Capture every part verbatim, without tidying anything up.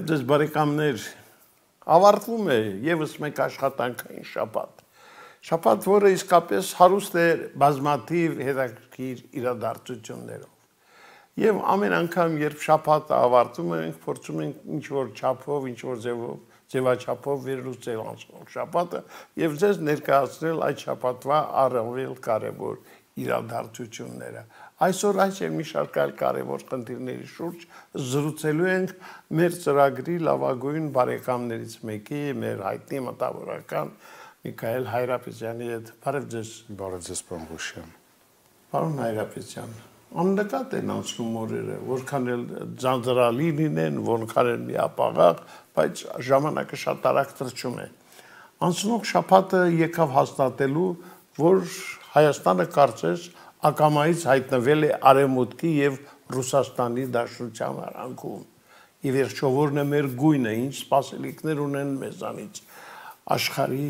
Բարև ձեզ բարեկամներ, ավարտվում է ևս մեկ աշխատանքային շաբաթ։ Շաբաթ, որը իսկապես հարուստ է բազմաթիվ հետաքրքիր իրադարձություններով։ Եվ ամեն անգամ, երբ շաբաթը ավարտում ենք, փորձում ենք ինչ-որ չափով, ինչ-որ ձևով, ձևաչափով վերլուծել անցնող շաբաթը եւ ձեզ ներկայացնել այդ շաբաթվա առավել կարեւոր իրադարձությունները։ Այսօր այս եւ մի շարք այլ կարևոր խնդիրների շուրջ զրուցելու ենք մեր ծրագրի լավագույն բարեկամներից մեկի, մեր հայտնի մտավորական Միքայել Հայրապետյանի հետ։ Բարև ձեզ։ Բարև ձեզ, պարոն Ղուշյան։ Պարոն Հայրապետյան, աննկատ են անցնում օրերը, որքան էլ ձանձրալի լինեն, որքան էլ միապաղաղ, բայց ժամանակը շատ արագ թռչում է։ Անցնող շաբաթը եկավ հաստատելու, որ Հայաստանը կարծես ակամայից հայտնվել է Արևմուտքի եւ Ռուսաստանի դաշնության արանքում։ Ի վերջո որն է մեր գույնը, ինչ սպասելիքներ ունեն մեզանից աշխարհի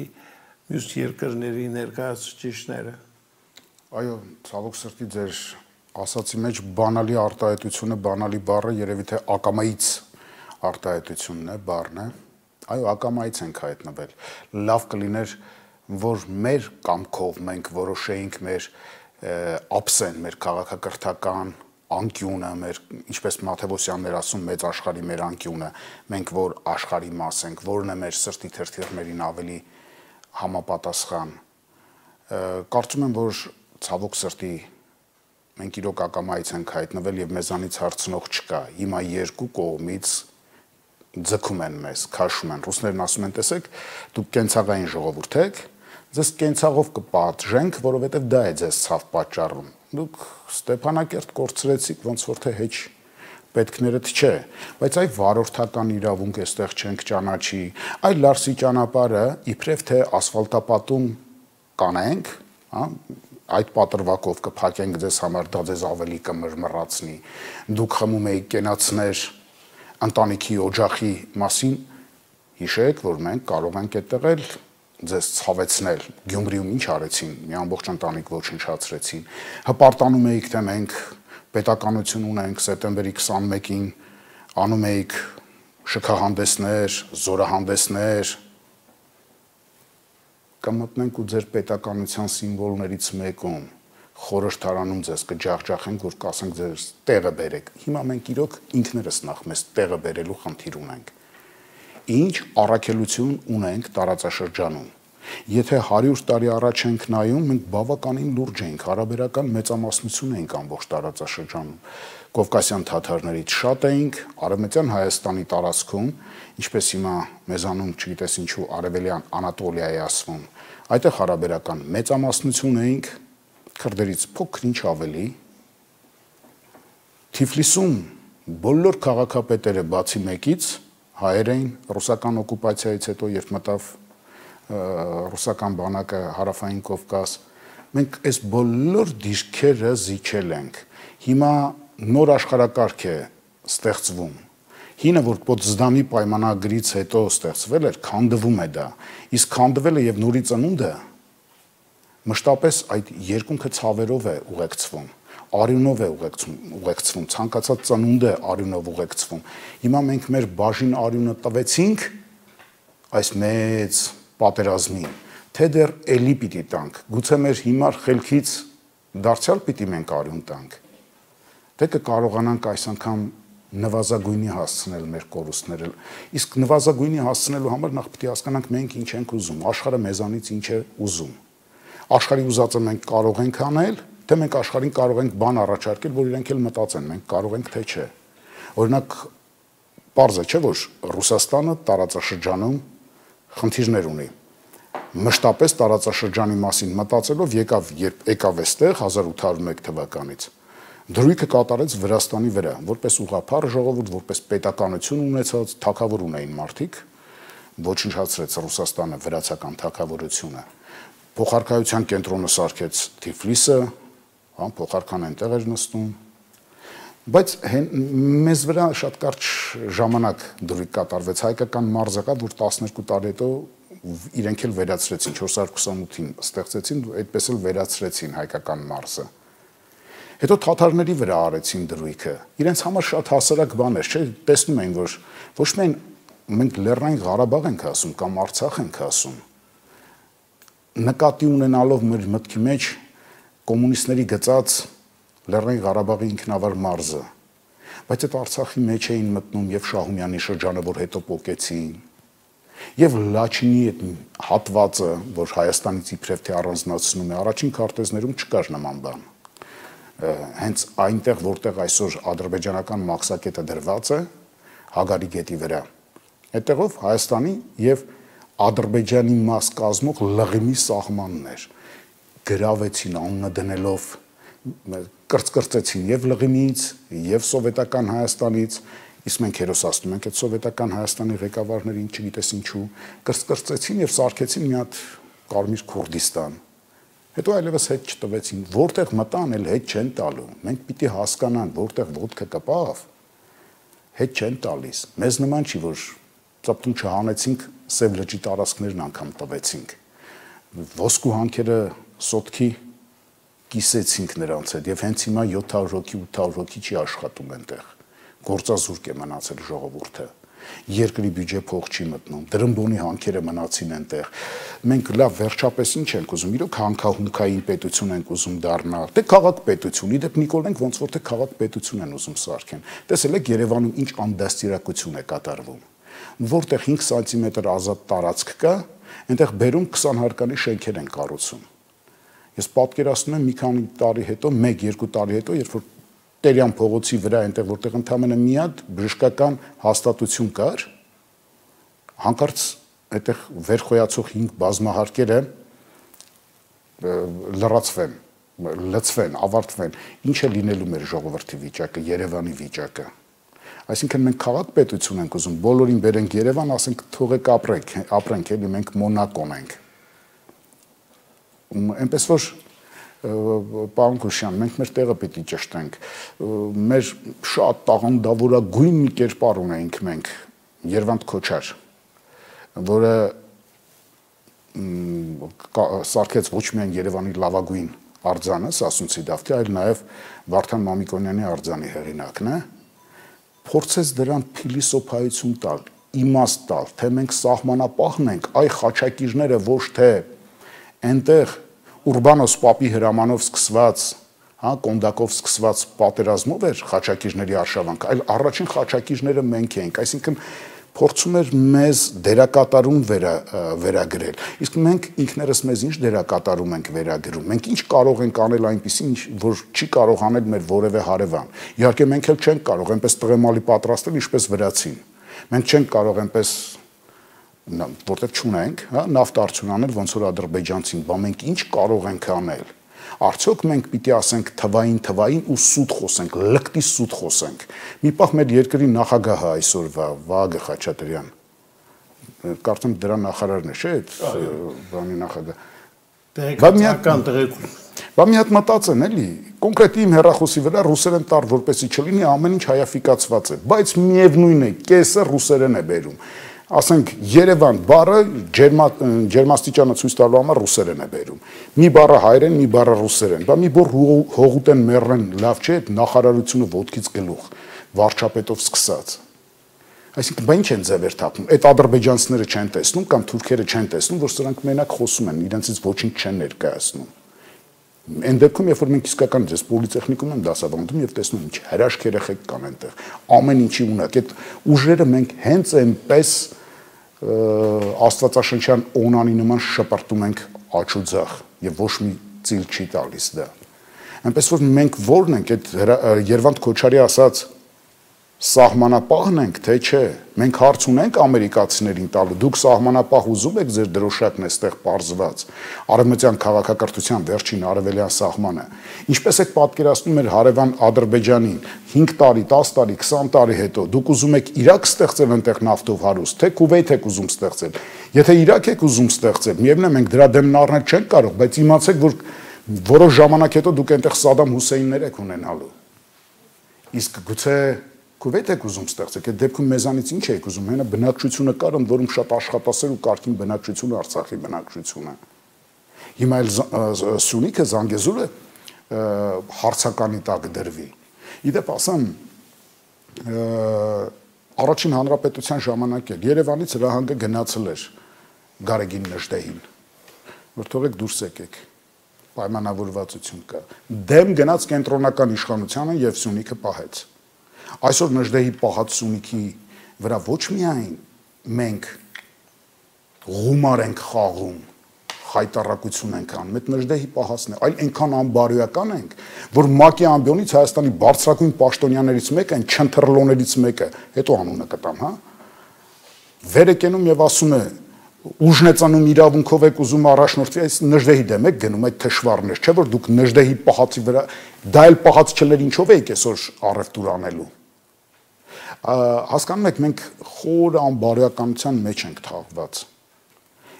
մյուս երկրների ներկայացուցիչները։ Այո, ցավոք սրտի ձեր ասացի մեջ բանալի արտահայտությունը, բանալի բառը երևի թե ակամայից արտահայտությունն է, բառն է։ Այո, ակամայից ենք հայտնվել։ Լավ կլիներ, որ մեր կամքով մենք որոշեինք մեր ափսեն, մեր քաղաքակրթական անկյունը, մեր, ինչպես Մաթեոսյաններ ասում, մեծ աշխարհի մեր անկյունը, մենք որ աշխարհի մաս ենք, որն է մեր սրտի թերթիռներին ավելի համապատասխան։ Կարծում եմ, որ ցավոք սրտի մենք իրոք ակամայից ենք հայտնվել եւ մեզանից հարցնող չկա։ Հիմա երկու կողմից ձգում են մեզ, քաշում են։ Ռուսներն ասում են, տեսեք, դուք կենցաղային ժողովուրդ եք, ձեզ կենցաղով կպատժենք, որովհետև դա է ձեզ ցավ պատճառում։ Դուք Ստեփանակերտ կորցրեցիք, ոնց որ թե հեչ պետքներդ չէ, բայց այ վարորդական իրավունք էստեղ չենք ճանաչի, այ Լարսի ճանապարհը իբրև թե ասֆալտապատում կանենք, հա, այդ պատրվակով կփակենք ձեզ համար, դա ձեզ ավելի կմրմռացնի։ Դուք խմում եք կենացներ ընտանիքի օջախի մասին, հիշեք, որ մենք կարող ենք այդտեղ ձեզ ցավեցնել, Գյումրիում ինչ արեցին, մի ամբողջ ընտանիք ոչնչացրեցին, հպարտանում էիք, թե մենք պետականություն ունենք, սեպտեմբերի քսանմեկին անում էիք շքահանդեսներ, զորահանդեսներ, կմտնենք ու ձեր պետականության սիմվոլներից մեկում, խորհրդարանում ձեզ կջախջախենք, որ կասենք ձեզ տեղը բերեք։ Հիմա մենք իրոք ինքներս նախ մեզ տեղը բերելու խնդիր ունենք։ Ինչ առաքելություն ունենք տարածաշրջանում։ Եթե հարյուր տարի առաջ ենք նայում, մենք բավականին լուրջ ենք, հարաբերական մեծամասնություն ենք ամբողջ տարածաշրջանում։ Կովկասյան թաթարներից շատ էինք, Արևմտյան Հայաստանի տարածքում, ինչպես հիմա մեզանում, չգիտես ինչու, Արևելյան Անատոլիա է ասվում, այդտեղ հարաբերական մեծամասնություն էինք, քրդերից փոքր-ինչ ավելի։ Թիֆլիսում բոլոր քաղաքապետերը բացի մեկից հայեր էին ռուսական օկուպացիայից հետո, երբ մտավ ռուսական բանակը հարավային Կովկաս, մենք այս բոլոր դիրքերը զիջել ենք։ Հիմա նոր աշխարհակարգ է ստեղծվում։ Հինը, որ Պոտսդամի պայմանագրից հետո ստեղծվել էր, քանդվում է դա։ Իսկ քանդվելը եւ նորի ծնունդը մշտապես այդ երկունքը ցավերով է ուղեկցվում, արյունով է ուղեկցվում, ուղեկցվում, ցանկացած ծնունդ է արյունով ուղեկցվում։ Հիմա մենք մեր բաժին արյունը տվեցինք այս մեծ պատերազմին, թե դեռ էլի պիտի տանք, գուցե մեր հիմար խելքից դարձյալ պիտի մենք արյուն տանք, թե կկարողանանք այս անգամ նվազագույնի հասցնել մեր կորուստները, իսկ նվազագույնի հասցնելու համար նախ պիտի հասկանանք մենք ինչ ենք ուզում, աշխարհը մեզանից ինչ է ուզում, աշխարհի ուզածը մենք կարող ենք անել, թե մենք աշխարհին կարող ենք բան առաջարկել, որ իրենք էլ մտածեն, մենք կարող ենք թե չէ։ Օրինակ, պարզ է, չէ՞ որ Ռուսաստանը տարածաշրջանում խնդիրներ ունի։ Մշտապես տարածաշրջանի մասին մտածելով եկավ, երբ եկավ այստեղ հազար ութ հարյուր մեկ թվականից, դրույքը կատարեց Վրաստանի վրա, որպես ուղղափառ ժողովուրդ, որպես պետականություն ունեցած թագավոր ունեին մարդիկ, ոչնչացրեց Ռուսաստանը վրացական թագավորությունը։ Փոխարքայության կենտրոնը սարքեց Թիֆլիսը, հա, փոխարքան այնտեղ էր նստում, բայց մեզ վրա շատ կարճ ժամանակ դրույք կատարվեց, հայկական մարզը կա, որ տասներկու տարի հետո իրենք էլ վերացրեցին, չորս հարյուր քսանութին ստեղծեցին, այդպես էլ վերացրեցին հայկական մարզը։ Հետո թաթարների վրա արեցին դրույքը։ Իրենց համար շատ հասարակ բան էր, չէ՞, տեսնում են, որ ոչ միայն մենք Լեռնային Ղարաբաղ ենք ասում կամ Արցախ ենք ասում, նկատի ունենալով մեր մտքի մեջ կոմունիստների գծած Լեռնային Ղարաբաղի ինքնավար մարզը, բայց այդ Արցախի մեջ էին մտնում եւ Շահումյանի շրջանը, որ հետո պոկեցին, եւ Լաչինի այդ հատվածը, որ Հայաստանից իբրև թե առանձնացնում է, առաջին քարտեզներում չկար նման բան։ Հենց այնտեղ, որտեղ այսօր ադրբեջանական մաքսակետը դրված է, Հագարի գետի վրա, այդտեղով Հայաստանի եւ Ադրբեջանի մաս կազմող Լղիմի սահմանն էր, գրավեցին անունը դնելով, կրծկրծեցին եւ Լղիմից, եւ սովետական Հայաստանից, իսկ մենք հերոսացնում ենք այդ սովետական Հայաստանի ղեկավարներին, չգիտես ինչու, կրծկրծեցին եւ սարքեցին մի հատ Կարմիր Քուրդիստան։ Հետո այլևս հետ չտվեցին, որտեղ մտան, էլ հետ չեն տալու։ Մենք պիտի հասկանանք, որտեղ ոտքը կպավ, հետ չեն տալիս։ Մեզ նման չի, որ ծպտուն չհանեցինք, Սև լճի տարածքներն անգամ տվեցինք։ Ոսկու հանքերը սոտքի կիսեցինք նրանց հետ եւ հենց հիմա յոթ հարյուր հոգի, ութ հարյուր հոգի չի աշխատում այնտեղ։ Գործազուրկ է մնացել ժողովուրդը։ Երկրի բյուջե փող չի մտնում, դրամբոնի հանքերը մնացին այնտեղ։ Մենք լավ վերջապես ինչ ենք ուզում, իրոք հանքահունքային պետություն ենք ուզում դառնալ, թե քաղաք պետություն, իդեպ Նիկոլենք ոնց որ թե քաղաք պետություն են ուզում սարքեն։ Տեսել եք Երևանում ինչ անդաստիարակություն է կատարվում, որտեղ հինգ սանտիմետր ազատ տարածք կա, այնտեղ բերում քսան հարկանի շենքեր են կառուցում։ Ես պատկերացնում եմ մի քանի տարի հետո, մեկ-երկու տարի հետո, երբ որ Տերյան փողոցի վրա այնտեղ որտեղ ընդամենը մի հատ բժշկական հաստատություն կար, հանկարծ այդտեղ վերխոյացող հինգ բազմահարկերը լրացվեն, լցվեն, ավարտվեն, ինչ է լինելու մեր ժողովրդի վիճակը, Երևանի վիճակը։ Այսինքն մենք քաղաք պետություն ենք ուզում, բոլորին բերենք Երևան, ասենք թողեք ապրենք, ապրենք, էլի մենք Մոնակոն ենք։ Այնպես որ Պարոն Քուշյան, մենք մեր տեղը պիտի ճշտենք, մեր շատ տաղանդավորագույն մի կերպար ունենք մենք, Երվանդ Քոչար, որը սարքեց ոչ միայն Երևանի լավագույն արձանը, Սասունցի Դավթի, այլ նաև Վարդան Մամիկոնյանի արձանի հեղինակն է, փորձեց դրան փիլիսոփայություն տալ, իմաստ տալ, թե մենք սահմանապահն ենք, այ խաչակիրները ոչ թե այնտեղ Ուրբանոս Պապի հրամանով սկսված, հա, Կոնդակով սկսված պատերազմով էր խաչակիրների արշավանքը, այլ առաջին խաչակիրները մենք էինք, այսինքն փորձում էր մեզ դերակատարում վերա, վերագրել։ Իսկ մենք ինքներս մեզ ինչ դերակատարում ենք վերագրում։ Մենք ինչ կարող ենք անել այնպեսին, որ չի կարող անել մեր որևէ հարևան։ Իհարկե մենք էլ չենք կարող այնպես տղեմալի պատրաստել, ինչպես վրացին։ Մենք չենք կարող այնպես որտեղ չունենք, հա, նավթ արդյուն անել, ոնց որ ադրբեջանցին, բա մենք ինչ կարող ենք անել։ Արդյոք մենք պիտի ասենք թվային թվային ու սուտ խոսենք, լկտի սուտ խոսենք։ Մի պահ մեր երկրի նախագահը այսօրվա Վահագն Խաչատրյան, կարծեմ դրա նախարարն է, չէ՞, բանի նախագահ։ Տեղեկատվական տեղեկություն։ Բա մի հատ մտածեն, էլի, կոնկրետ իմ հեռախոսի վրա ռուսերեն տար, որպեսզի չլինի, ամեն ինչ հայաֆիկացված է, բայց միևնույն է, կեսը ռուսերեն է բերում։ Ասենք Երևան բառը ջերմաստիճանը ցույց տալու համար ռուսերեն է բերում։ Մի բառը հայերեն, մի բառը ռուսերեն։ Բա մի բոր հողուտեն մեռեն, լավ չէ, նախարարությունը ոտքից գլուխ, վարչապետով սկսած։ Այսինքն բա ինչ են ձևեր թափում։ Այդ ադրբեջանցիները չեն տեսնում կամ թուրքերը չեն տեսնում, որ սրանք մենակ խոսում են, իրենցից ոչինչ չեն ներկայացնում։ Այն դեպքում, երբ որ մենք իսկական ես պոլիտեխնիկում եմ դասավանդում եւ տեսնում ինչ հրաշք երեխեք կան այնտեղ, ամեն ինչի ունակ, այդ ուժերը մենք հենց այնպես աստվածաշնչյան օնանի նման շպրտում ենք աչուձախ եւ ոչ մի ծիլ չի տալիս դա։ Այնպես որ մենք ո՞րն ենք այդ Երվանդ Քոչարի ասած սահմանապահն ենք, թե չէ։ Մենք հարց ունենք ամերիկացիներին տալու, դուք սահմանապահ ուզում եք ձեր դրոշակն էստեղ պարզված, արևմտյան քաղաքակրթության վերջին արևելյան սահմանը։ Ինչպես եք պատկերացնում մեր հարևան Ադրբեջանին հինգ տարի, տաս տարի, քսան տարի հետո, դուք ուզում եք Իրաք ստեղծել այնտեղ նավթով հարուստ, թե Քուվեյթ եք ուզում ստեղծել։ Եթե Իրաք եք ուզում ստեղծել, միևնույն է մենք դրա դեմն առնել չենք կարող, բայց իմացեք, որ որոշ ժամանակ հետո դուք այնտեղ Սադամ Հուսեյններ եք ունենալու։ Իսկ գուցե Քուվեյթ եք ուզում ստեղծեք, այդ դեպքում մեզանից ինչ եք ուզում, հենա բնակչությունը կար, ընդ որում շատ աշխատասեր ու կարգին բնակչությունը, Արցախի բնակչությունը։ Հիմա էլ Սյունիքը, Զանգեզուրը հարցականի տակ դրվի։ Իդեպ ասեմ, առաջին հանրապետության ժամանակ էլ Երևանից հրահանգը գնացել էր Գարեգին Նժդեհին, որ թողեք դուրս եկեք, պայմանավորվածություն կա։ Դեմ գնաց կենտրոնական իշխանությանը եւ Սյունիքը պահեց։ Այսօր Նժդեհի պահած Սյունիքի վրա ոչ միայն մենք գումար ենք խաղում, հայտարարություն ենք անում, այդ Նժդեհի պահածն է, այլ այնքան անբարոյական ենք, որ ՄԱԿ-ի ամբիոնից Հայաստանի բարձրագույն պաշտոնյաներից մեկը, այն չընթրլոներից մեկը, հետո անունը կտամ, հա, վեր է կենում եւ ասում է, ուժն է ծնում իրավունքով եք ուզում առաջնորդվի, այս Նժդեհի դեմ եք գնում այդ թշվառներ, չէ՞ որ դուք Նժդեհի պահածի վրա, դա էլ պահած չլեր ինչով եք այսօր առևտուր անելու։ Հասկանում եք, մենք խոր անբարոյականության մեջ ենք թաղված։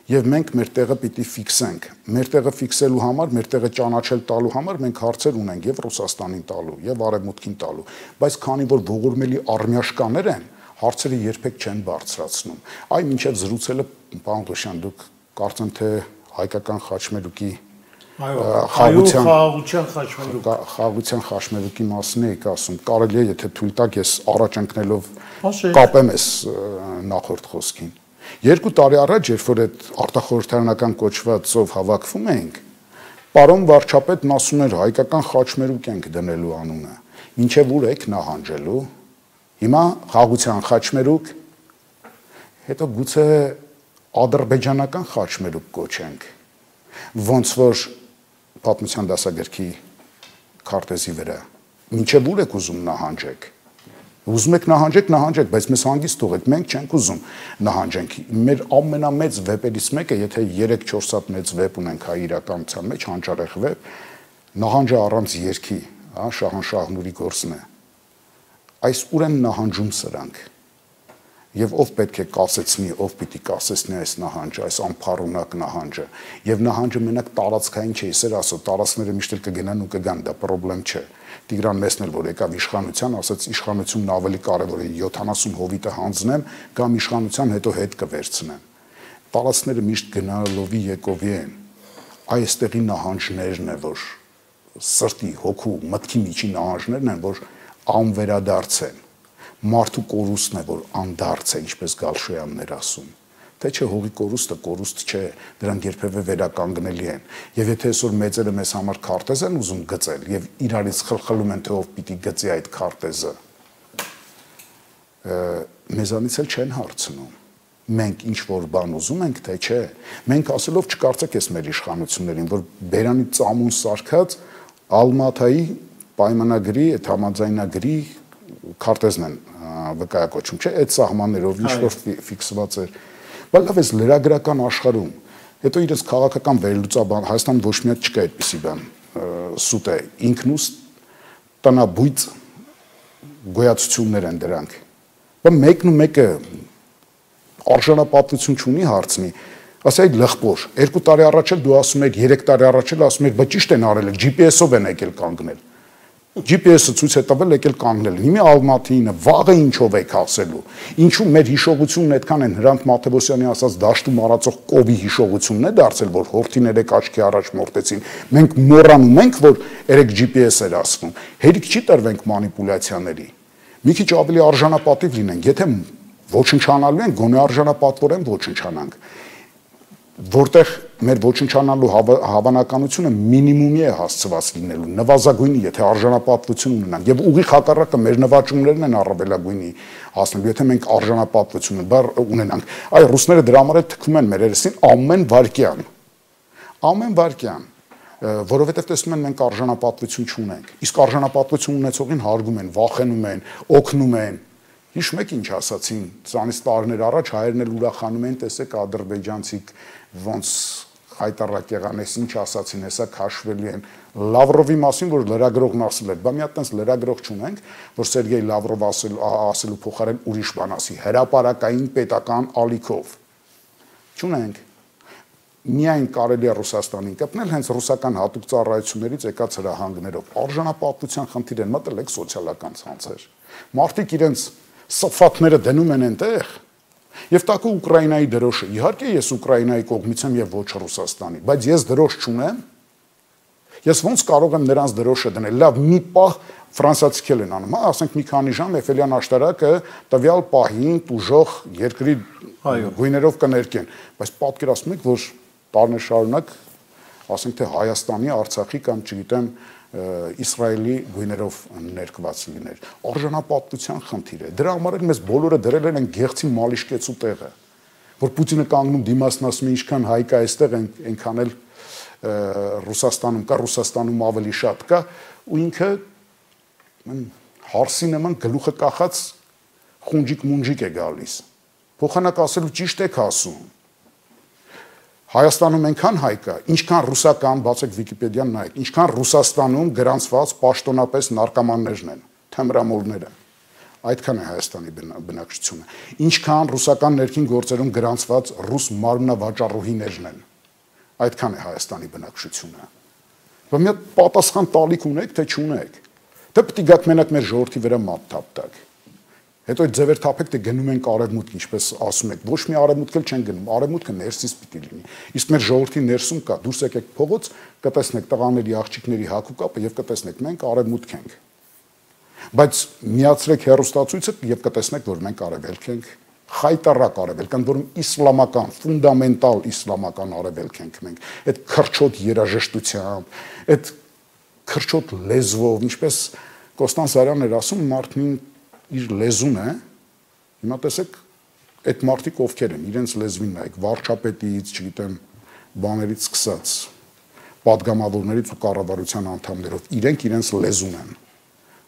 Եվ մենք մեր տեղը պիտի ֆիքսենք։ Մեր տեղը ֆիքսելու համար, մեր տեղը ճանաչել տալու համար մենք հարցեր ունենք եւ Ռուսաստանին տալու, եւ Արևմուտքին տալու, բայց քանի որ ողորմելի արմյաշկաներ են, հարցերը երբեք չեն բարձրացնում։ Այ մինչեւ զրուցելը, պարոն Ղուշյան, դուք կարծեմ թե հայկական խաչմերուկի խաղաղության խաչմերուկ խաղաղության խաչմերուկի մասն եք ասում, կարելի է եթե թույլ տաք ես առաջ ընկնելով կապեմ ես նախորդ խոսքին։ Երկու տարի առաջ, երբ որ այդ արտախորհրդարանական կոչված ծով հավաքվում էինք, պարոն վարչապետն ասում էր հայկական խաչմերուկ ենք դնելու անունը, մինչև ուր եք նահանջելու, հիմա խաղաղության խաչմերուկ, հետո գուցե ադրբեջանական խաչմերուկ կոչենք, ոնց որ պատմության դասագրքի քարտեզի վրա, մինչև ուր եք ուզում նահանջեք։ Ուզում եք նահանջեք, նահանջեք, բայց մեզ հանգիստ թողեք, մենք չենք ուզում նահանջենք։ Մեր ամենամեծ վեպերից մեկը, եթե երեք-չորս հատ մեծ վեպ ունենք հայ իրականության մեջ, հանճարեղ վեպ, նահանջը առանց երգի, հա, Շահանշահնուրի գործն է։ Այս ուր են նահանջում սրանք։ Եվ ով պետք է կասեցնի, ով պիտի կասեցնի այս նահանջը, այս անփառունակ նահանջը։ Եվ նահանջը մենակ տարածքային չէ, իսեր ասո, տարածքները միշտ էլ կգնան ու կգան, դա խնդրեմ չէ։ Տիգրան Մեսն էլ որ եկավ իշխանության, ասաց իշխանությունն ավելի կարևոր է, յոթանասուն հովիտը հանձնեմ կամ իշխանության հետո հետ կվերցնեմ։ Տարածքները միշտ գնալովի եկովի են։ Այստեղի նահանջներն է, որ սրտի, հոգու, մտքի միջի նահանջներն են, որ անվերադարձ են։ Մարդու կորուստն է, որ անդարձ է, ինչպես Գալշոյանն էր ասում։ Թե չէ հողի կորուստը կորուստ չէ, դրանք երբևէ վերականգնելի են։ Եվ եթե այսօր մեծերը մեզ համար քարտեզ են ուզում գծել եւ իրարից խլխլում են թե ով պիտի գծի այդ քարտեզը, մեզանից էլ չեն հարցնում։ Մենք ինչ որ բան ուզում ենք, թե չէ։ Մենք ասելով չկարծեք ես մեր իշխանություններին, որ Բերանի ծամուն սարքած Ալմաթայի պայմանագրի, այդ համաձայնագրի քարտեզն են վկայակոչում, չէ, այդ սահմաններով ինչ որ ֆիքսված էր։ Բայց լավ էս լրագրական աշխարհում, հետո իրենց քաղաքական վերլուծաբան Հայաստան ոչ մի հատ չկա այդպիսի բան, սուտ է, ինքնուս տնաբույծ գոյացություններ են դրանք։ Բայց մեկն ու մեկը արժանապատվություն չունի հարցնի, ասա այդ լղբոր, երկու տարի առաջ էլ դու ասում եք, երեք տարի առաջ էլ ասում եք, բայց ճիշտ են արել, G P S-ով են եկել կանգնել։ G P S-ը ցույց է տվել եկել կանգնել։ Հիմա Ալմաթինը վաղը ինչով եք ասելու։ Ինչու մեր հիշողությունն այդքան են Հրանտ Մաթեոսյանի ասած դաշտում արածող կովի հիշողությունն է դարձել, որ հորթին երեք աչքի առաջ մորտեցին։ Մենք մոռանում ենք, որ երեք G P S էր ասվում։ Հերիք չի տրվենք մանիպուլյացիաների։ Մի քիչ ավելի արժանապատիվ լինենք, եթե ոչնչանալու են, գոնե արժանապատվորեն ոչնչանանք։ Որտեղ մեր ոչնչանալու հավանականությունը մինիմումի է հասցված լինելու, նվազագույնի, եթե արժանապատվություն ունենանք, եւ ուղիղ հակառակը մեր նվաճումներն են առավելագույնի հասնելու, եթե մենք արժանապատվություն ունենանք։ Այ ռուսները դրա համար է թքում են մեր երեսին ամեն վարքյան։ Ամեն վարքյան, որովհետեւ տեսնում են մենք արժանապատվություն չունենք։ Իսկ արժանապատվություն ունեցողին հարգում են, վախենում են, օգնում են։ Հիշում եք ինչ ասացին, ծանից տարիներ առաջ հայերն էլ ուրախանում են, տեսեք ադրբեջանցիք ոնց հայտարարակ եղան, ես ինչ ասացին, հեսա քաշվելի են Լավրովի մասին, որ լրագրողն ասել էր, բա մի հատ տենց լրագրող չունենք, որ Սերգեյ Լավրով ասել, ասելու փոխարեն ուրիշ բան ասի, հրապարակային պետական ալիքով։ Չունենք։ Միայն կարելի է Ռուսաստանին կպնել հենց ռուսական հատուկ ծառայություններից եկած հրահանգներով։ Արժանապատվության խնդիր են մտել եք սոցիալական ցանցեր։ Մարդիկ իրենց սփաթները դնում են այնտեղ, եւ տակու Ուկրաինայի դրոշը։ Իհարկե ես Ուկրաինայի կողմից եմ եւ ոչ Ռուսաստանի, բայց ես դրոշ չունեմ։ Ես ոնց կարող եմ նրանց դրոշը դնել։ Լավ, մի պահ ֆրանսիացիք են անում, հա, ասենք մի քանի ժամ Էֆելյան աշտարակը տվյալ պահին տուժող երկրի գույներով կներկեն, բայց պատկերացնում եք, որ տարիներ շարունակ, ասենք թե Հայաստանի, Արցախի կամ չգիտեմ Իսրայելի գույներով ներկված լիներ։ Արժանապատվության խնդիր է։ Դրա համար էլ մեզ բոլորը դրել են գեղցի մալիշկեցու տեղը, որ Պուտինը կանգնում դիմացն ասում է ինչքան հայ կա այստեղ, այնքան էլ Ռուսաստանում կա, Ռուսաստանում ավելի շատ կա, ու ինքը հարսի նման գլուխը կախած խունջիկ մունջիկ է գալիս։ Փոխանակ ասելու ճիշտ եք ասում։ Հայաստանում այնքան հայ կա, ինչքան ռուսական, բացեք Վիկիպեդիան նայեք, ինչքան Ռուսաստանում գրանցված պաշտոնապես նարկոմաններն են, թմրամոլները։ Այդքան է Հայաստանի բնակչությունը։ Ինչքան ռուսական ներքին գործերում գրանցված ռուս մարմնավաճառուհիներն են։ Այդքան է Հայաստանի բնակչությունը։ Բայց մի հատ պատասխան տալիք ունեք, թե չունեք։ Դե պետք է գաք մենակ մեր ժողովրդի վրա մատ թափտակ։ Հետո այդ ձևեր թափեք, թե գնում ենք արևմուտք, ինչպես ասում եք, ոչ մի արևմուտք էլ չեն գնում, արևմուտքը ներսից պիտի լինի։ Իսկ մեր ժողովրդի ներսում կա, դուրս եկեք փողոց, կտեսնեք տղաների, աղջիկների հագու կապը եւ կտեսնեք մենք արևմուտք ենք։ Բայց միացրեք հերոստացույցը եւ կտեսնեք, որ մենք արևելք ենք, խայտարակ արևելք, ընդ որում իսլամական, ֆունդամենտալ իսլամական արևելք ենք մենք։ Այդ քրչոտ երաժշտությամբ, այդ քրչոտ լեզվով, ինչպես Կոստան Սարյանն էր ասում, մարդն իր լեզուն է, հիմա տեսեք, այդ մարդիկ ովքեր են, իրենց լեզվին նայեք, վարչապետից, չգիտեմ, բաներից սկսած, պատգամավորներից ու կառավարության անդամներով, իրենք իրենց լեզուն են,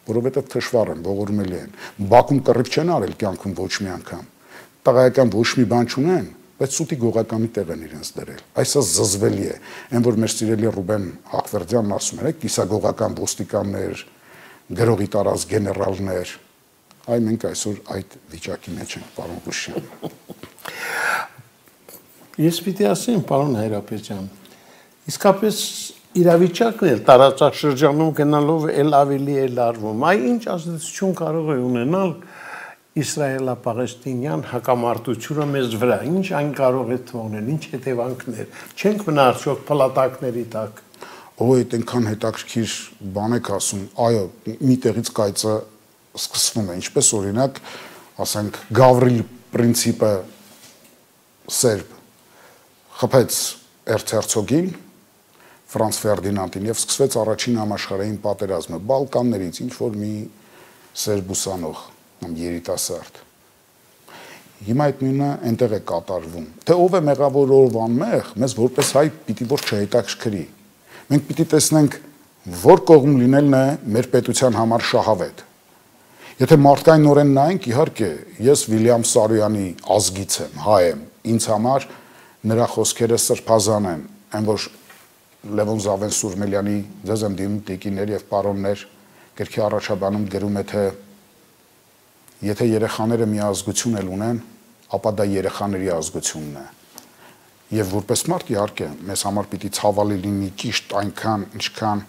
որովհետև թշվառ են, ողորմելի են, Բաքում կռիվ չեն արել կյանքում ոչ մի անգամ, տղայական ոչ մի բան չունեն, բայց սուտի գողականի տեղ են իրենց դրել, այսա զզվելի է, այն որ մեր սիրելի Ռուբեն Հաղվերդյանն ասում էր, կիսագողական ոստիկաններ, գրողի տարած գեներալներ, այ մենք այսօր այդ վիճակի մեջ ենք, պարոն Բուշյան։ Ես պիտի ասեմ, պարոն Հայրապետյան, իսկապես իրավիճակն էլ տարածաշրջանում գնալով էլ ավելի է լարվում, այ ինչ ազդեցություն կարող է ունենալ իսրայելա-պաղեստինյան հակամարտությունը մեզ վրա, ինչ այն կարող է թողնել, ինչ հետևանքներ, չենք մնա արդյոք փլատակների տակ։ Ո՞վ է այդքան հետաքրքիր բան եք ասում, այո, մի տեղից կայծը սկսվում է, ինչպես օրինակ, ասենք, Գավրիլ պրինցիպը սերբ խփեց Էրցհերցոգին, Ֆրանց Ֆերդինանդին եւ սկսվեց առաջին համաշխարհային պատերազմը, Բալկաններից ինչ որ մի սերբ ուսանող, երիտասարդ։ Հիմա այդ նույնը այնտեղ է կատարվում։ Թե ով է մեղավոր, ով անմեղ, մեզ որպես հայ պիտի որ չհետաքրքրի։ Մենք պիտի տեսնենք, որ կողմ լինելն է մեր պետության համար շահավետ։ Եթե մարդկայնորեն նայենք, իհարկե, ես Վիլյամ Սարոյանի ազգից եմ, հայ եմ, ինձ համար նրա խոսքերը սրբազան են, այն որ Լևոն Զավեն-Սուրմելյանի ձեզ եմ դիմում տիկիներ եւ պարոններ գրքի առաջաբանում գրում է, թե եթե երեխաները մի ազգություն էլ ունեն, ապա դա երեխաների ազգությունն է։ Եվ որպես մարդ իհարկե մեզ համար պիտի ցավալի լինի ճիշտ այնքան, ինչքան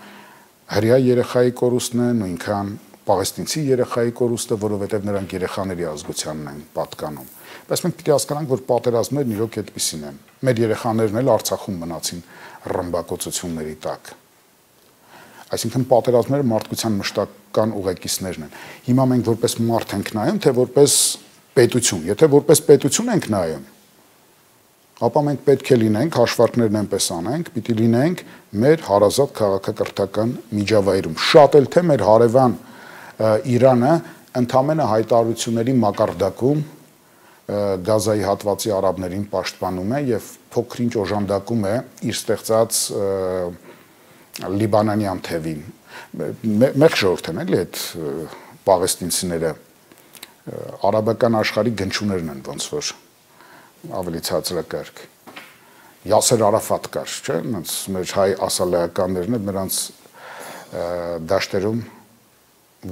հրեա երեխայի կորուստն է, նույնքան պաղեստինցի երեխայի կորուստը, որովհետև նրանք երեխաների ազգությանն են պատկանում։ Բայց մենք պիտի հասկանանք, որ պատերազմներն իրոք այդպիսին են։ Մեր երեխաներն էլ Արցախում մնացին ռմբակոծությունների տակ։ Այսինքն պատերազմները մարդկության մշտական ուղեկիցներն են։ Հիմա մենք որպես մարդ ենք նայում, թե որպես պետություն։ Եթե որպես պետություն ենք նայում, ապա մենք պետք է լինենք, հաշվարկներն այնպես անենք, պիտի լինենք մեր հարազատ քաղաքակրթական միջավայրում։ Շատ էլ թե մեր հարևան Իրանը ընդամենը հայտարարությունների մակարդակում Գազայի հատվածի արաբներին պաշտպանում է եւ փոքրինչ օժանդակում է իր ստեղծած լիբանանյան թևին։ Մեկ ժողովուրդ են էլի այդ պաղեստինցիները արաբական աշխարհի գնչուներն են ոնց որ ավելի ցածրակարգ։ Յասեր Արաֆատ կար, չէ՞, այնց մեր հայ ասալեականներն էլ նրանց դաշտերում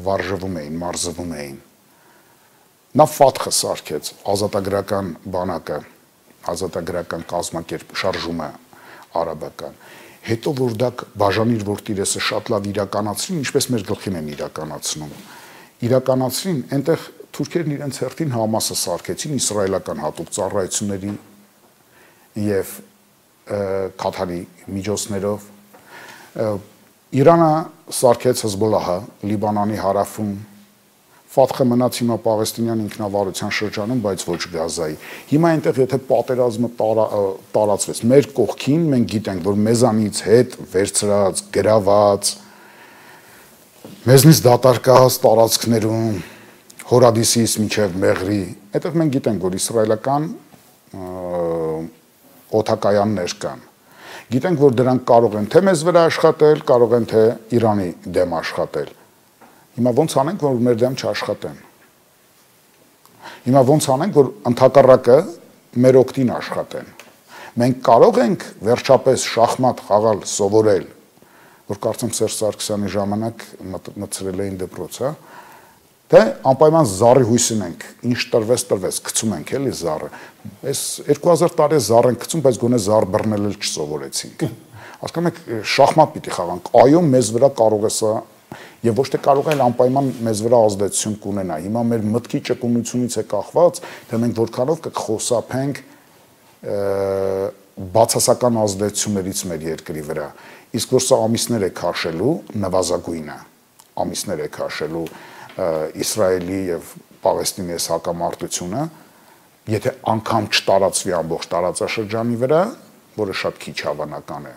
վարժվում էին, մարզվում էին։ Նա Ֆաթխը սարքեց ազատագրական բանակը, ազատագրական կազմակերպ շարժումը արաբական։ Հետո որ դա բաժանիր որ տիրեսը շատ լավ իրականացրին, ինչպես մեր գլխին են իրականացնում։ Իրականացրին, այնտեղ թուրքերն իրենց հերթին Համասը սարքեցին իսրայելական հատուկ ծառայությունների եւ Կաթարի միջոցներով Իրանը սարքեց Հեզբոլլահը Լիբանանի հարավում, Ֆաթխը մնաց հիմա Պաղեստինյան ինքնավարության շրջանում, բայց ոչ Գազայի։ Հիմա այնտեղ եթե պատերազմը տարածվեց մեր կողքին, մենք գիտենք, որ մեզանից հետ վերցրած, գրաված, մեզնից դատարկած տարածքներում Հորադիսից մինչև Մեղրի, այդտեղ մենք գիտենք, որ իսրայելական օդակայաններ կան։ Գիտենք, որ դրանք կարող են թե մեզ վրա աշխատել, կարող են թե Իրանի դեմ աշխատել։ Հիմա ոնց անենք, որ մեր դեմ չաշխատեն։ Հիմա ոնց անենք, որ ընդհակառակը մեր օգտին աշխատեն։ Մենք կարող ենք վերջապես շախմատ խաղալ, սովորել, որ կարծեմ Սերժ Սարգսյանի ժամանակ մտցրել էին դպրոց, հա, թե անպայման զառի հույսին ենք, ինչ տրվեց, տրվեց, գցում ենք էլի զառը։ Այս երկու հազար տարի զառ ենք գցում, բայց գոնե զառ բռնել էլ չսովորեցինք։ Հասկանում եք, շախմատ պիտի խաղանք։ Այո, մեզ վրա կարող է սա եւ ոչ թե կարող է անպայման մեզ վրա ազդեցություն կունենա։ Հիմա մեր մտքի ճկունությունից է կախված, թե մենք որքանով կխոսափենք բացասական ազդեցություններից մեր երկրի վրա։ Իսկ որ սա ամիսներ է քաշելու նվազագույնը, ամիսներ է քաշելու Իսրայելի եւ Պաղեստինի այս հակամարտությունը, եթե անգամ չտարածվի ամբողջ տարածաշրջանի վրա, որը շատ քիչ հավանական է,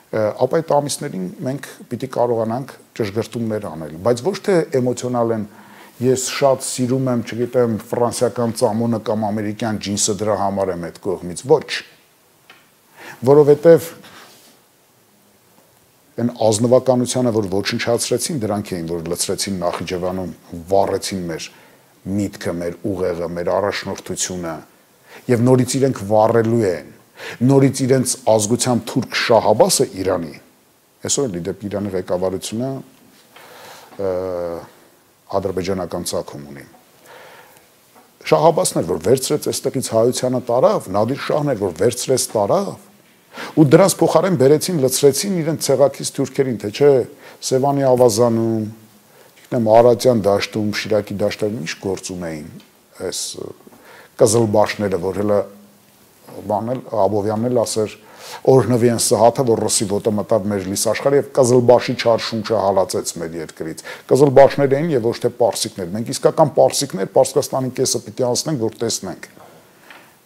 ապա այդ ամիսներին մենք պիտի կարողանանք ճշգրտումներ անել, բայց ոչ թե էմոցիոնալ են, ես շատ սիրում եմ, չգիտեմ, ֆրանսիական ծամոնը կամ ամերիկյան ջինսը դրա համար եմ այդ կողմից, ոչ, որովհետև այն ազնվականությանը, որ ոչնչացրեցին, դրանք էին, որ լցրեցին Նախիջևանում, վառեցին մեր միտքը, մեր ուղեղը, մեր առաջնորդությունը, եւ նորից իրենք վառելու են, նորից իրենց ազգությամբ թուրք Շահաբասը Իրանի, այսօր էլ դեպի Իրանի ղեկավարությունը ադրբեջանական ցակում ունի։ Շահաբասն էր, որ վերցրեց այստեղից հայությանը տարավ, Նադիր Շահն էր, որ վերցրեց տարավ, ու դրանց փոխարեն բերեցին, լցրեցին իրենց ցեղակից թուրքերին, թե չէ, Սևանի ավազանում, գիտեմ, Արարատյան դաշտում, Շիրակի դաշտերում ինչ գործում էին այս կզլբաշները, որ հələ բանել Աբովյանն էլ ասեր օրհնվի են Սահաթը, որ ռուսի ոտը մտավ մեր լիսաշխարհը եւ կզլբաշի չար շունչը հալածեց մեր երկրից։ Կզլբաշներ էին եւ ոչ թե պարսիկներ։ Մենք իսկական պարսիկներ Պարսկաստանի կեսը պիտի անցնենք, որ տեսնենք։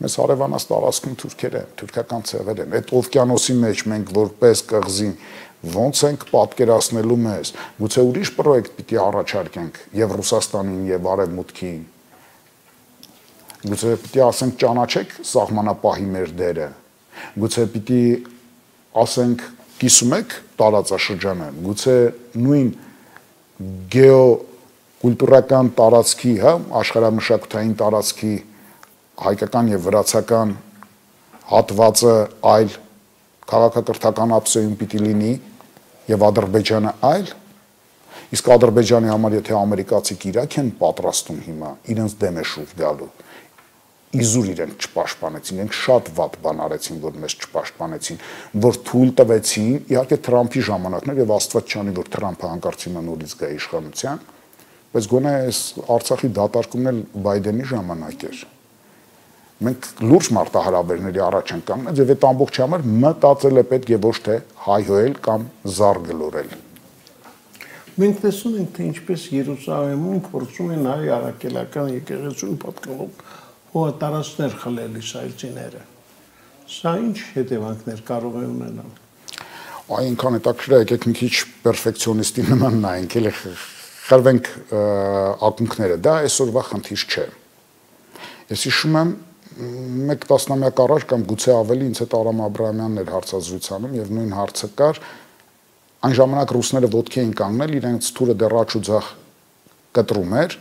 Մեզ հարևանաց տարածքում թուրքեր են, թուրքական ցեղեր են։ Այդ օվկիանոսի մեջ մենք որպես կղզի ոնց ենք պատկերացնելու մեզ։ Գուցե ուրիշ պրոյեկտ պիտի առաջարկենք եւ Ռուսաստանին եւ Արևմուտքին։ Գուցե պիտի ասենք ճանաչեք սահմանապահի մեր դերը։ Գուցե պիտի ասենք կիսում եք տարածաշրջանը։ Գուցե նույն գեոկուլտուրական տարածքի, հա, աշխարհամշակութային տարածքի հայկական եւ վրացական հատվածը այլ քաղաքակրթական ապսեյում պիտի լինի եւ Ադրբեջանը այլ, իսկ Ադրբեջանի համար եթե ամերիկացիք Իրաք են պատրաստում հիմա իրենց դեմ է շուտ գալու, իզուր իրենք չպաշտպանեցին, իրենք շատ վատ բան արեցին, որ մեզ չպաշտպանեցին, որ թույլ տվեցին, իհարկե Թրամփի ժամանակներ եւ Աստված չանի, որ Թրամփը հանկարծ հիմա նորից գա իշխանության, բայց գոնե այս Արցախի դատարկումն էլ Բայդենի ժամանակ էր։ Մենք լուրջ մարտահրավերների առաջ ենք կանգնած եւ այդ ամբողջ համար մտածել է պետք է ոչ թե հայհոյել կամ զար գլորել։ Մենք տեսնում ենք, թե ինչպես Երուսաղեմում փորձում են հայ առաքելական եկեղեցուն պատկանող հողատարածքներ խլել իսրայելցիները։ Սա ինչ հետևանքներ կարող է ունենալ։ Այնքան հետաքրքիր է, եկեք մի քիչ պերֆեկցիոնիստի նման նայենք, էլի խրվենք ակունքները, դա այսօրվա խնդիր չէ։ Ես հիշում եմ մեկ տասնամյակ առաջ կամ գուցե ավելի ինձ հետ Արամ Աբրահամյանն էր հարցազրույցանում եւ նույն հարցը կար, այն ժամանակ ռուսները ոտքի էին կանգնել, իրենց թուրը դեռ աչ ու ձախ կտրում էր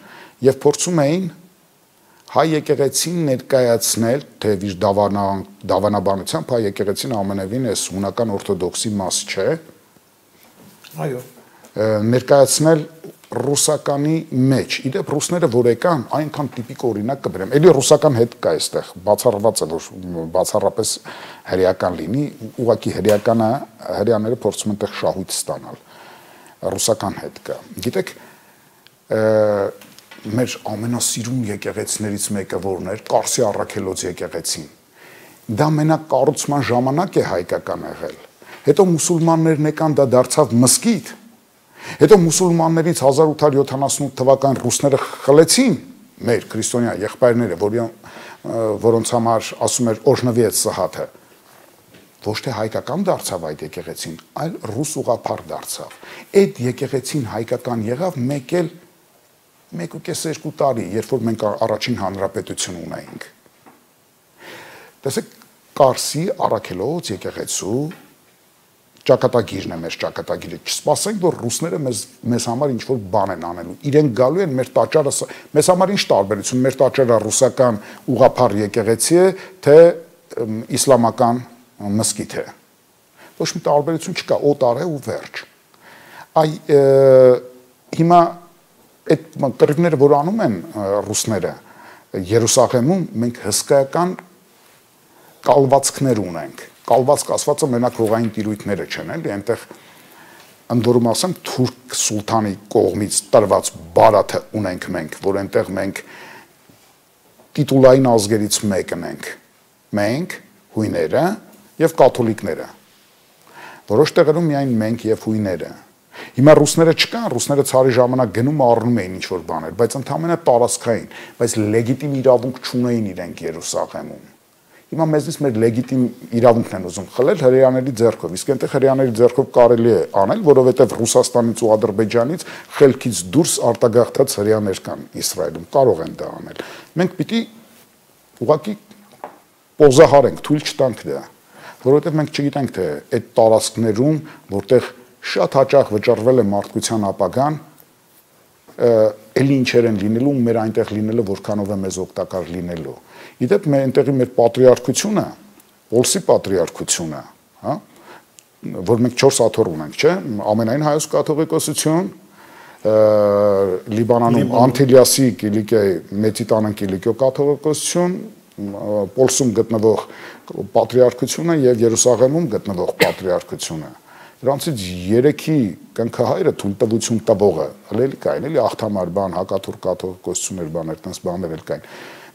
եւ փորձում էին հայ եկեղեցին ներկայացնել, թեև իր դավանաբանությամբ հայ եկեղեցին ամենևին էս հունական օրթոդոքսի մաս չէ։ Այո։ Ներկայացնել ռուսականի մեջ։ Իդեպ ռուսները որ եկան, այնքան տիպիկ օրինակ կբերեմ։ Էլի ռուսական հետ կա այստեղ, բացառված է, որ բացառապես հրեական լինի, ուղղակի հրեականը, հրեաները փորձում են այդտեղ շահույթ ստանալ։ Ռուսական հետ կա։ Գիտեք, մեր ամենասիրուն եկեղեցիներից մեկը որն էր, Կարսի առաքելոց եկեղեցին։ Դա մենակ կառուցման ժամանակ է հայկական եղել։ Հետո մուսուլմաններն եկան, դա դարձավ մզկիթ։ Հետո մուսուլմաններից հազար ութ հարյուր յոթանասունութ թվական ռուսները խլեցին մեր քրիստոնյա եղբայրները, որոնց համար ասում էր օրհնվի այդ Սահաթը։ Ոչ թե հայկական դարձավ այդ եկեղեցին, այլ ռուս ուղղափառ դարձավ։ Այդ եկեղեցին հայկական եղավ մեկ էլ մեկ ու կես երկու տարի, երբ որ մենք առաջին հանրապետություն ունեինք։ Տեսեք, Կարսի Առաքելոց եկեղեցու ճակատագիրն է մեր ճակատագիրը։ Չսպասենք, որ ռուսները մեզ մեզ համար ինչ-որ բան են անելու։ Իրենք գալու են մեր տաճարը, մեզ համար ինչ տարբերություն, մեր տաճարը ռուսական ուղղափառ եկեղեցի է, թե իսլամական մզկիթ է։ Ոչ մի տարբերություն չկա, օտար է ու վերջ։ Այ հիմա այդ կռիվները, որ անում են ռուսները Երուսաղեմում, մենք հսկայական կալվածքներ ունենք։ Կալվածք ասվածը մենակ հողային տիրույթները չեն, էլի, այնտեղ ընդ որում ասեմ թուրք սուլթանի կողմից տրված բարաթը ունենք մենք, որ այնտեղ մենք տիտուլային ազգերից մեկն ենք։ Մենք, հույները եւ կաթոլիկները։ Որոշ տեղերում միայն մենք եւ հույները։ Հիմա ռուսները չկան, ռուսները ցարի ժամանակ գնում առնում էին ինչ-որ բաներ, բայց ընդհանրապես տարածքային, բայց լեգիտիմ իրավունք չունեին իրենք Երուսաղեմում։ Հիմա մեզնից մեր լեգիտիմ իրավունքն են ուզում խլել հրեաների ձեռքով, իսկ այնտեղ հրեաների ձեռքով կարելի է անել, որովհետև Ռուսաստանից ու Ադրբեջանից խելքից դուրս արտագաղթած հրեաներ կան Իսրայելում, կարող են դա անել։ Մենք պիտի ուղղակի պոզահարենք, թույլ չտանք դա, որովհետև մենք չգիտենք, թե այդ տարածքներում, որտեղ շատ հաճախ վճռվել է մարդկության ապագան, էլի ինչեր են լինելու, մեր այնտեղ լինելը որքանով է մեզ օգտակար լինելու։ Իդեպ մեր այնտեղի մեր պատրիարքությունը, Պոլսի պատրիարքությունը, հա, որ մենք չորս աթոռ ունենք, չէ՞, ամենայն հայոց կաթողիկոսություն, Լիբանանում Անտիլիասի Կիլիկիայի Մեծիտանան Կիլիկիո կաթողիկոսություն, Պոլսում գտնվող պատրիարքությունը եւ Երուսաղեմում գտնվող պատրիարքությունը։ Դրանցից երեքի կնքահայրը թույլտվություն տվողը, հələ կային, էլի աղթամար բան, հակաթուրք կաթողիկոսություններ բաներ, տես բաներ էլ կային։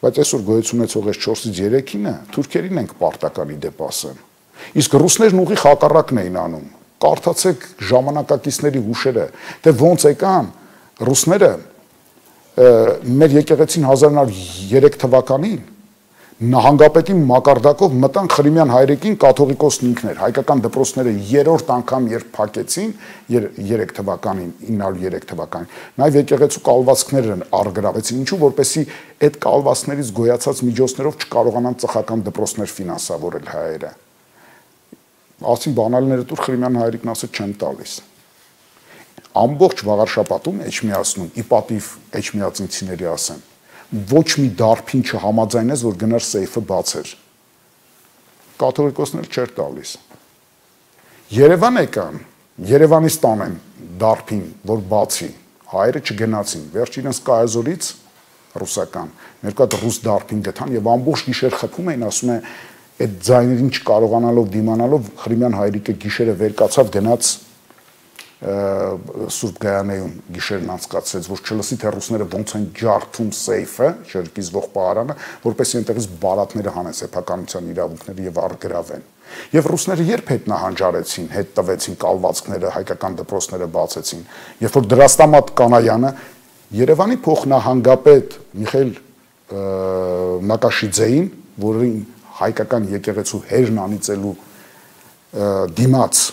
Բայց այսօր գոյություն ունեցող այս չորսից երեքինը թուրքերին ենք պարտականի դեպ ասեմ։ Իսկ ռուսներն ուղիղ հակառակն էին անում։ Կարդացեք ժամանակակիցների հուշերը, թե ոնց եկան ռուսները մեր եկեղեցին հազար նոր երեք թվականին նահանգապետի մակարդակով մտան Խրիմյան հայրենիքին կաթողիկոսն ինքն էր, հայկական դպրոցները երրորդ անգամ երբ փակեցին երեք թվականին, ինը հարյուր երեք թվականին, նաև եկեղեցու կալվածքներն առգրավեցին, ինչու որպեսզի այդ կալվածքներից գոյացած միջոցներով չկարողանան ծխական դպրոցներ ֆինանսավորել հայերը։ Ասին բանալիները դուր Խրիմյան հայրենիքն ասել չեն տալիս։ Ամբողջ վաղարշապատում էջմիածնում, ի պատիվ էջմիածինցիների ասեմ, ոչ մի դարբին չհամաձայնեց, որ գնար սեյֆը բացեր։ Կաթողիկոսներ չէր տալիս։ Երևան եկան, Երևանից տանեն դարբին, որ բացի, հայերը չգնացին, վերջ իրենց կայազորից ռուսական, ներկա ռուս դարբին գտան եւ ամբողջ գիշեր խփում էին, ասում է, այդ ձայներին չկարողանալով դիմանալով Խրիմյան հայրիկը գիշերը վեր կացավ, գնաց Սուրբ Գայանեում գիշերն անցկացրեց, որ չլսի թե ռուսները ոնց են ջարդում սեյֆը, շրջիզվող պահարանը, որպեսզի այնտեղից բարատները հանեն սեփականության իրավունքները եւ առգրավեն։ Եվ ռուսները երբ հետ նահանջարեցին, հետ տվեցին կալվածքները, հայկական դպրոցները բացեցին, երբ որ Դրաստամատ Կանայանը Երևանի փոխնահանգապետ Միխայել Նակաշիձեին, որին հայկական եկեղեցու հերն անիծելու դիմաց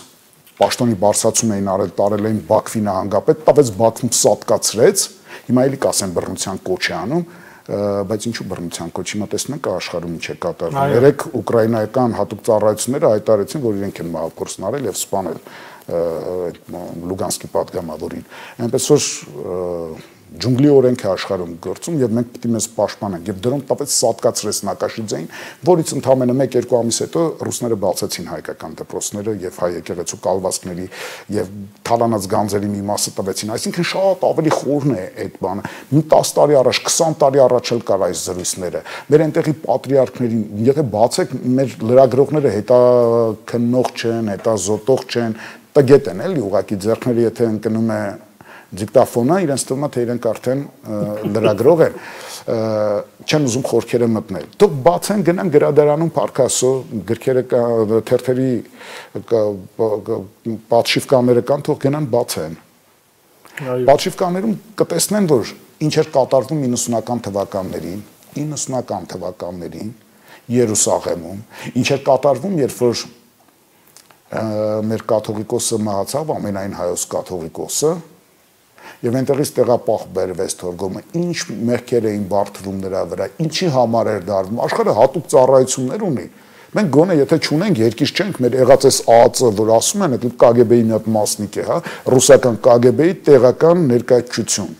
պաշտոնի բարձրացում էին արել, տարել էին Բաքվի նահանգապետ, տավեց Բաքվում սատկացրեց, հիմա էլի կասեն բռնության կոչ է անում, բայց ինչու բռնության կոչ, հիմա տեսնում եք աշխարհում ինչ է կատարվում։ Երեք ուկրաինայական հատուկ ծառայությունները հայտարարեցին, որ իրենք են մահափորձն արել եւ սպանել Լուգանսկի պատգամավորին։ Այնպես որ ջունգլի օրենք է աշխարհում գործում եւ մենք պետք է մեզ պաշտպանենք եւ դրոն տապեց սատկացրեց Նակաշիձեին, որից ընդամենը մեկ-երկու ամիս հետո ռուսները բացեցին հայկական դպրոցները եւ հայ եկեղեցու կալվածքների եւ թալանած գանձերի մի մասը տվեցին, այսինքն շատ ավելի խորն է այդ բանը։ Մի տասը տարի առաջ, քսան տարի առաջ էլ կար այս զրույցները։ Մեր այնտեղի պատրիարքներին, եթե բացեք, մեր լրագրողները հետա քննող չեն, հետա զոտող չեն, տգետ են էլի ուղակի ձեռքները եթե ընկնում է դիկտաֆոնը, իրենց թվում է թե իրենք արդեն լրագրող են, չեն ուզում խորքերը մտնել։ Թող բացեն, գնան գրադարանում Փարքասո, գրքերը թերթերի պատշիվկաները կան, թող գնան բացեն։ Պատշիվկաներում կտեսնեն, որ ինչ էր կատարվում իննսունական թվականներին, իննսունական թվականներին Երուսաղեմում, ինչ էր կատարվում, երբ որ մեր կաթողիկոսը մահացավ, ամենայն հայոց կաթողիկոսը, եւ այնտեղից տեղապահ բերվեց թորգոմը, ինչ մեղքեր էին բարդվում նրա վրա, ինչի համար էր դարվում, աշխարհը հատուկ ծառայություններ ունի։ Մենք գոնե եթե չունենք, երկիր չենք, մեր եղած էս ԱԱԾ, որ ասում են, այդ Կ Գ B-ի մի հատ մասնիկ է, հա, ռուսական Կ Գ B-ի տեղական ներկայացություն։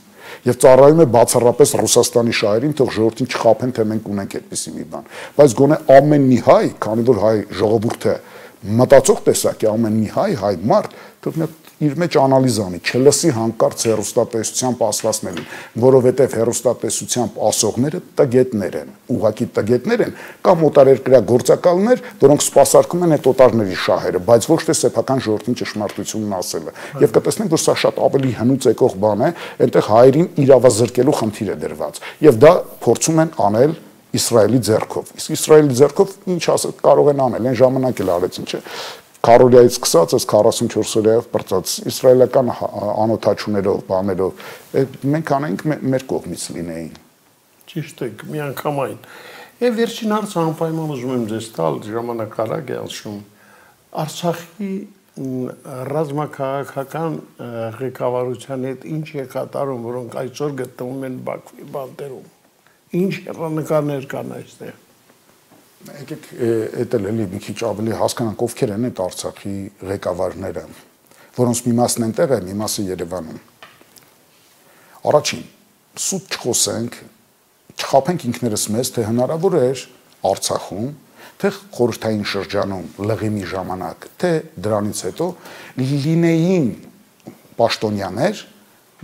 Եվ ծառայում է բացառապես Ռուսաստանի շահերին, թող ժողովրդին չխաբեն, թե մենք ունենք այդպիսի մի բան։ Բայց գոնե ամեն մի հայ, քանի որ հայ ժողովուրդը մտածող տեսակ է, ամեն մի հայ, հայ մարդ, թող իր մեջ անալիզ անի, չլսի հանկարծ հեռուստատեսությամբ ասվածներին, որովհետև հեռուստատեսությամբ ասողները տգետներ են, ուղղակի տգետներ են, կամ օտարերկրյա գործակալներ, որոնք սպասարկում են այդ օտարների շահերը, բայց ոչ թե սեփական ժողովրդին ճշմարտությունն ասելը։ Եվ կտեսնենք, որ սա շատ ավելի հնուց եկող բան է, այնտեղ հայերին իրավազրկելու խնդիր է դրված։ Եվ դա փորձում են անել Իսրայելի ձեռքով։ Իսկ Իսրայելի ձեռքով ինչ ասել կարող են անել, այն ժամանակ էլ արեցին, չէ։ Քարորիայից սկսած այս քառասունչորս օրյայով բրծած իսրայելական անօթաչուներով, բաներով, մենք անենք մեր կողմից լինեին։ Ճիշտ է, միանգամայն։ Եվ վերջին հարցը անպայման ուզում եմ ձեզ տալ, ժամանակ արագ է անցնում։ Արցախի ռազմաքաղաքական ղեկավարության հետ ինչ է կատարում, որոնք այսօր գտնվում են Բաքվի բանտերում։ Ինչ հեռանկարներ կան այստեղ։ Եկեք էդ էլ էլի մի քիչ ավելի հասկանանք ովքեր են այդ Արցախի ղեկավարները, որոնց մի մասն այնտեղ է, մի մասը Երևանում։ Առաջին, սուտ չխոսենք, չխաբենք ինքներս մեզ, թե հնարավոր էր Արցախում, թե խորհրդային շրջանում լղիմի ժամանակ, թե դրանից հետո լինեին պաշտոնյաներ,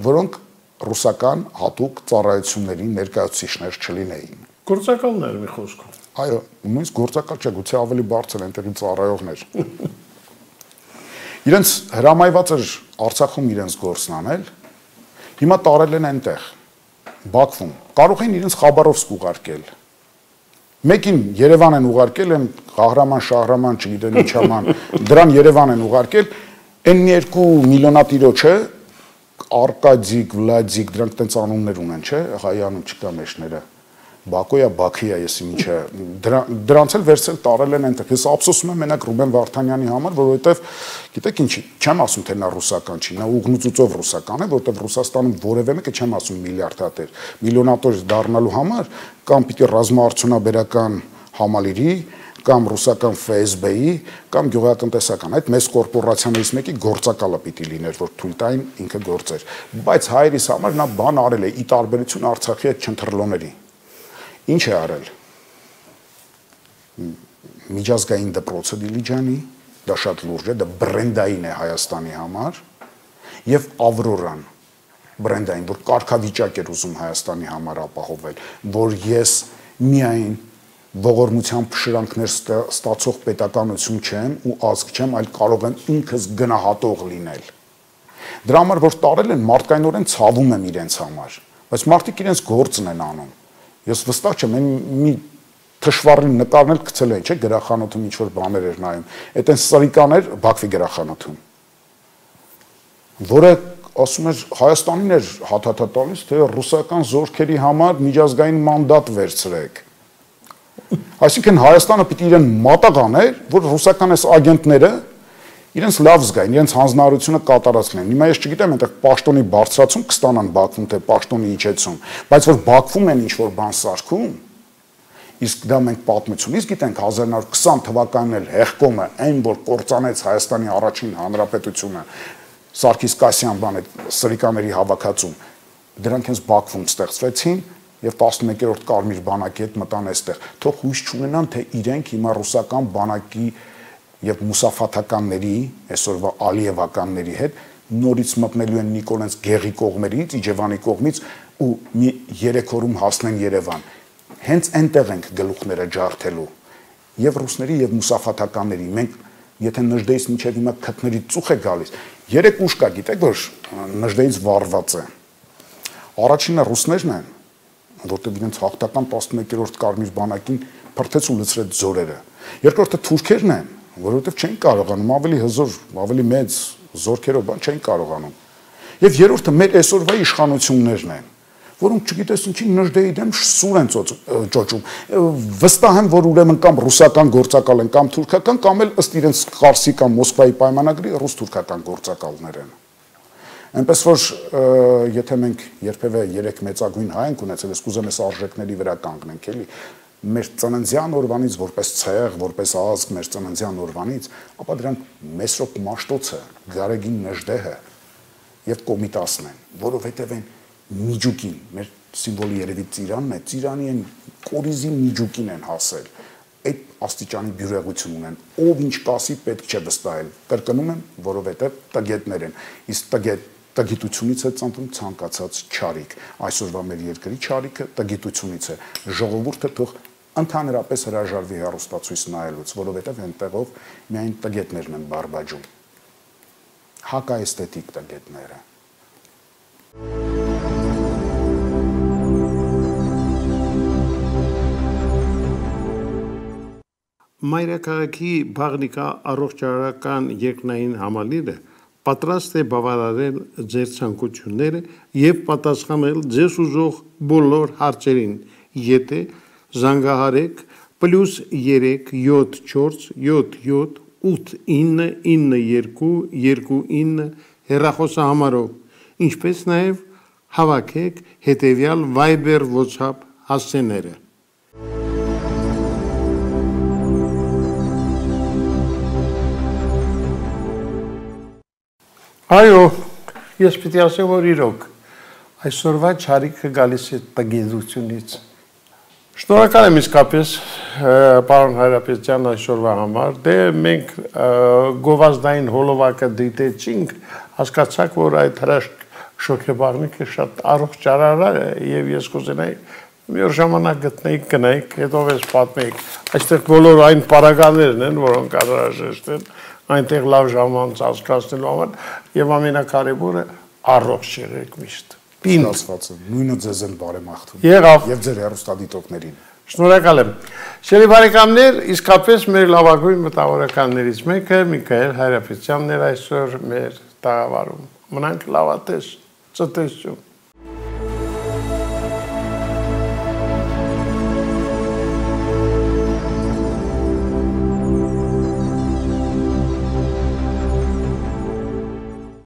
որոնք ռուսական հատուկ ծառայությունների ներկայացուցիչներ չլինեին։ Գործակալներ մի խոսքով։ Այո, նույնիսկ գործակալ չէ, գուցե ավելի բարձր այնտեղի ծառայողներ։ Իրենց հրամայված էր Արցախում իրենց գործն անել, հիմա տարել են այնտեղ, Բաքվում։ Կարող են իրենց Խաբարովսկ ուղարկել։ Մեկին Երևան են ուղարկել, են Ղահրաման, Շահրաման, չգիտեմ ինչ աման, դրան Երևան են ուղարկել, այն մի երկու միլիոնատիրոջը Արկադիկ, Վլադիկ, դրանք տենց անուններ ունեն, չէ, հայանում չկա մեջները։ Բաքոյա, Բաքիա, եսի ինչը, դրանց էլ վերցել տարել են այնտեղ։ Ես ափսոսում եմ մենակ Ռուբեն Վարդանյանի համար, որովհետև գիտեք ինչի, չեմ ասում թե նա ռուսական չի, նա ուղնուծուծով ռուսական է, որովհետև Ռուսաստանում որևէ մեկը չեմ ասում միլիարդատեր, միլիոնատոր դառնալու համար կամ պիտի ռազմաարդյունաբերական համալիրի կամ ռուսական Ֆ S B-ի կամ գյուղատնտեսական այդ մեծ կորպորացիաներից մեկի գործակալը պիտի լիներ, որ թույլ տային ինքը գործեր։ Բայց հայերիս համար նա բան արել է՝ ի տարբերություն Արցախի այդ չընթրլոների։ Ինչ է արել։ Միջազգային դպրոցը Դիլիջանի, դա շատ լուրջ է, դա բրենդային է Հայաստանի համար, եւ Ավրորան բրենդային, որ կարգավիճակ էր ուզում Հայաստանի համար ապահովել, որ ես միայն ողորմությամբ շրանքներ ստացող պետականություն չեմ ու ազգ չեմ, այլ կարող եմ ինքս գնահատող լինել։ Դրա համար որ տարել են, մարդկայնորեն ցավում եմ իրենց համար, բայց մարդիկ իրենց գործն են անում։ Ես վստահ չեմ, մի թշվառին նկարներ գցել են, չէ, գրախանութում ինչ որ բաներ էր նայում։ Այդ այն սրիկաներ Բաքվի գրախանութում, որը ասում էր Հայաստանին էր հաթաթա տալիս, թե ռուսական զորքերի համար միջազգային մանդատ վերցրեք։ Այսինքն Հայաստանը պիտի իրեն մատաղ աներ, որ ռուսական այս ագենտները իրենց լավ զգային, իրենց հանձնարարությունը կատարածնեն։ Հիմա ես չգիտեմ, այնտեղ պաշտոնի բարձրացում կստանան Բաքվում, թե պաշտոնի իջեցում, բայց որ Բաքվում են ինչ-որ բան սարքում, իսկ դա մենք պատմությունից գիտենք հազար նոր քսան թվականին էլ հեղկոմը, այն որ կործանեց Հայաստանի առաջին հանրապետությունը, Սարգիս Կասյան բան այդ սրիկաների հավաքածում, դրանք հենց Բաքվում ստեղծվեցին եւ տասնմեկերորդ կարմիր բանակի հետ մտան այստեղ։ Թող հույս չունենան, թե իրենք հիմա ռուսական բանակի եւ մուսաֆաթականների, այսօրվա ալիևականների հետ նորից մտնելու են Նիկոլենց Գեղի կողմերից, Իջևանի կողմից ու մի երեք օրում հասնեն Երևան։ Հենց այնտեղ ենք գլուխները ջարդելու եւ ռուսների եւ մուսաֆաթականների։ Մենք եթե Նժդեից մինչև հիմա քթների ծուխ է գալիս, երեք ուժ կա, գիտեք, որ Նժդեից վառված է։ Առաջինը ռուսներն են, որտեղ իրենց հաղթական տասնմեկերորդ կարմիր բանակին փրթեց ու լցրեց ձորերը։ Երկրորդը թուրքերն են, որովհետև չեն կարողանում ավելի հզոր, ավելի մեծ զորքերով բան չեն կարողանում։ Եվ երրորդը մեր այսօրվա իշխանություններն են, որոնք չգիտես ինչի Նժդեի դեմ սուր են ճոճում։ Վստահ եմ, որ ուրեմն կամ ռուսական գործակալ են, կամ թուրքական, կամ էլ ըստ իրենց Խարսի կամ Մոսկվայի պայմանագրի ռուս-թուրքական գործակալներ են։ Այնպես որ եթե մենք երբևէ երեք մեծագույն հայ ենք ունեցել, ես կուզեմ այս արժեքների վրա կանգնենք, էլի, մեր ծննդյան օրվանից որպես ցեղ, որպես ազգ, մեր ծննդյան օրվանից, ապա դրանք Մեսրոպ Մաշտոցը, Գարեգին Նժդեհը եւ Կոմիտասն են, որովհետեւ են միջուկին, մեր սիմվոլի երևի ծիրանն է, ծիրանի են կորիզի միջուկին են հասել, այդ աստիճանի բյուրեղություն ունեն, ով ինչ կասի պետք չէ վստահել, կրկնում եմ, որովհետև տգետներ են, իսկ տգետ տգիտությունից է ծնվում ցանկացած չարիք, այսօրվա մեր երկրի չարիքը տգիտությունից է, ժողովուրդը թող ընդհանրապես հրաժարվի հեռուստացույց նայելուց, որովհետև այնտեղով միայն տգետներն են բարբաջում, հակաэսթետիկ տգետները։ Մայրաքաղաքի Բաղնիկա առողջարարական երկնային համալիրը պատրաստ է բավարարել ձեր ցանկությունները եւ պատասխանել ձեզ ուզող բոլոր հարցերին, եթե զանգահարեք պլյուս երեք յոթ չորս յոթ յոթ ութ ինը ինը երկու երկու ինը հեռախոսահամարով, ինչպես նաեւ հավաքեք հետեւյալ Viber WhatsApp հասցեները։ Այո, ես պիտի ասեմ, որ իրոք, այսօրվա չարիքը գալիս է տգիտությունից։ Շնորհակալ եմ իսկապես, պարոն Հայրապետյան, այսօրվա համար, դե մենք գովազդային հոլովակը դիտեցինք, հասկացաք, որ այդ հրաշք շոգեբաղնիկը շատ առողջարար է եւ ես կուզենայի մի օր ժամանակ գտնեիք, գնայիք, հետո ես պատմեիք։ Այստեղ բոլոր այն պարագաներն են, որոնք անհրաժեշտ են այնտեղ լավ ժամանց անցկացնելու համար եւ ամենակարևորը առողջ եղեք միշտ։ Ստացվածը, նույնը ձեզ են բարեմաղթում։ Եղավ եւ ձեր հեռուստադիտողներին։ Շնորհակալ եմ։ Շերի բարեկամներ, իսկապես մեր լավագույն մտավորականներից մեկը Միքայել Հայրապետյանն էր այսօր մեր տաղավարում։ Մնանք լավատես, ցտեսություն։